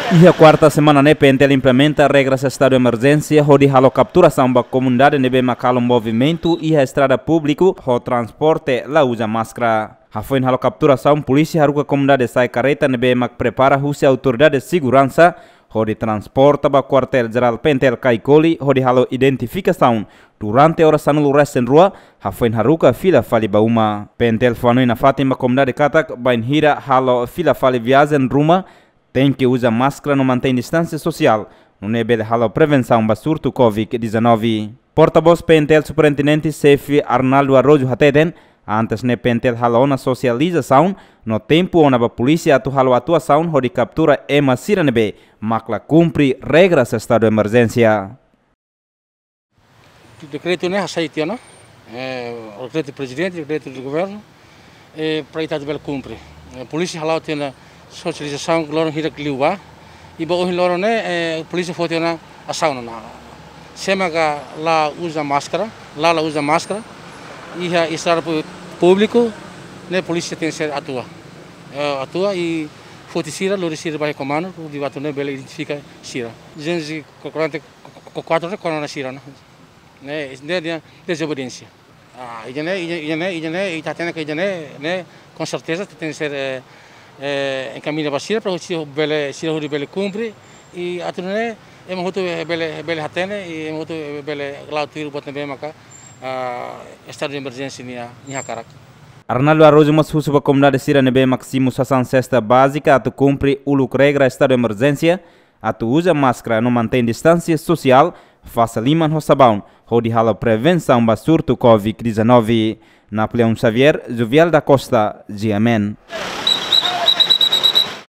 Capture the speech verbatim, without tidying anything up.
Iha kuarta semana ne'e, P N T L implementa regras estadu emerjénsia hodi halo kapturasaun ba komunidade ne'ebé mak halo movimentu iha estrada públiku ho transporte la uza máskara. Hafoin halo kapturasaun, polísia haruka komunidade sa'e kareta ne'ebé mak prepara husi autoridade seguransa hodi transporta ba kuartél jerál P N T L Caicoli hodi halo identifikasaun durante oras sanulu-resin-rua, hafoin haruka fila fali ba uma. P N T L fó-hanoin nafatin ba komunidade katak bainhira halo fila fali viajen ruma, tenke uza máskara no mantein distánsia sosiál, nune'e bele halo prevensaun ba surtu covid dezanove. Portavós P N T L Superintendente Xefe Arnaldo Araújo hateten, antes ne'e P N T L halo ona sosializasaun no tempu ona ba polísia atu halo atuasaun hodi kaptura ema sira ne'ebé mak la kumpre regras estadu emerjénsia. Dekretu ne'e hasai tiha ona, eh, dekretu prezidente, dekretu do governu, eh, para ita atu bele kumpre. Eh, polísia hala'o tiha ona sosializasaun loron hirak liubá, i ba ohin loron ne'e, eh, polísia foti ona asaun ona. Sé maka la uza máskara, la, la uza máskara iha estrada pú-, públiku, ne'e polísia tenke ser atua. Eh, atua i foti sira, lori sira ba iha komandu, hodi atu nune'e bele identifika sira. Duzentos e quarenta e quatro ne'e kona ona sira ona. Ne'e, ne'e, ne'e dezobediénsia. Ah, ida-ne'e, ida-, ida-ne'e, ida-ne'e, ita hatene katak ida-ne'e, ne'e, com certeza, tenke ser, eh, eh, enkamiña ba sira, para sira bele, sira hodi bele kumpre, i atu nune'e, ema hotu bele, bele hatene, i ema hotu bele la'o tuir buat ne'ebé maka, ah, estadu de emerjénsia nia, nia hakarak. Arnaldo Araújo mós husu ba komunidade sira ne'ebé mak simu sasán sesta bázika atu kumpre uluk regra estadu de emerjénsia, atu uza máskara no mantein distánsia sosiál, fase liman ho sabaun, hodi halo prevensaun ba surtu covid dezanove. Napoleão Xavier, Jovial da Costa, G M N.